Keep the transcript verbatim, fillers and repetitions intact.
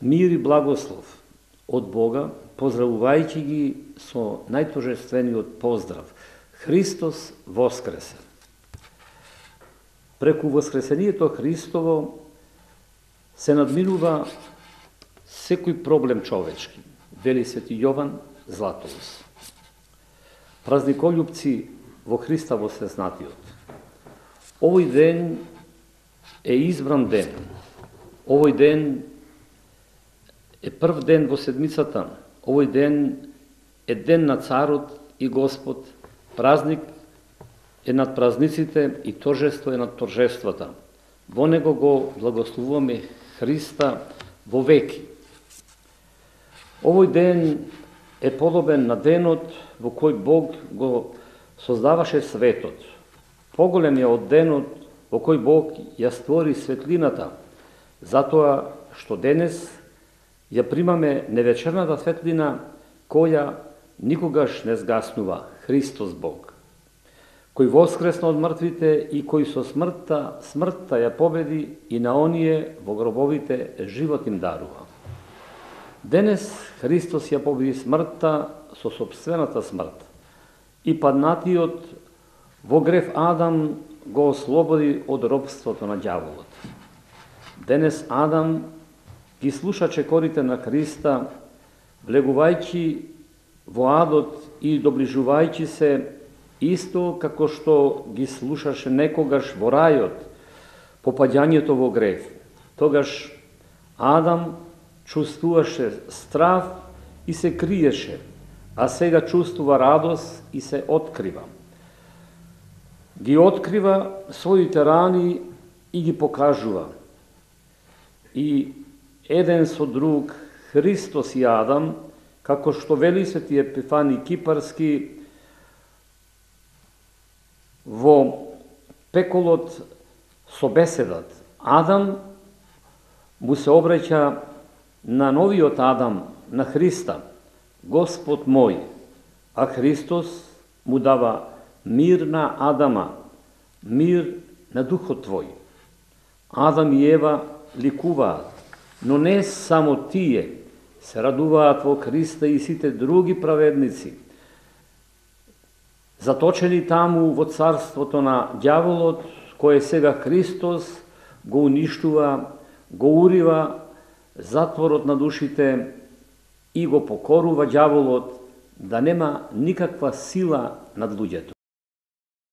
Мир и благослов од Бога, поздравувајќи ги со најторжествениот поздрав. Христос воскресе! Преку воскресението Христово се надминува секој проблем човечки, вели свети Јован Златоуст. Празниколюбци во Христа воскреснатиот. Овој ден е избран ден. Овој ден е прв ден во седмицата. Овој ден е ден на Царот и Господ. Празник е над празниците и торжество е над торжествата. Во него го благословуваме Христа во веки. Овој ден е подобен на денот во кој Бог го создаваше светот. Поголем е од денот во кој Бог ја створи светлината, затоа што денес ја примаме невечерната светлина која никогаш не згаснува, Христос Бог, кој воскресна од мртвите и кој со смртта, смртта ја победи и на оние во гробовите живот им дарува. Денес Христос ја победи смртта со собствената смрт и паднатиот во грев Адам го ослободи од робството на ѓаволот. Денес Адам ги слуша чекорите на Христа, влегувајќи во адот и доближувајќи се, исто како што ги слушаше некогаш во рајот, по паѓањето во грев. Тогаш Адам чувствуваше страв и се криеше, а сега чувствува радост и се открива. Ги открива своите рани и ги покажува. И еден со друг, Христос и Адам, како што вели свети Епифани Кипарски, во пеколот со беседат, Адам му се обраќа на новиот Адам, на Христа, Господ мој, а Христос му дава мир на Адама, мир на духот твој. Адам и Ева ликуваат, но не само тие, се радуваат во Христа и сите други праведници, заточени таму во царството на ѓаволот, кое сега Христос го уништува, го урива затворот на душите и го покорува ѓаволот да нема никаква сила над луѓето.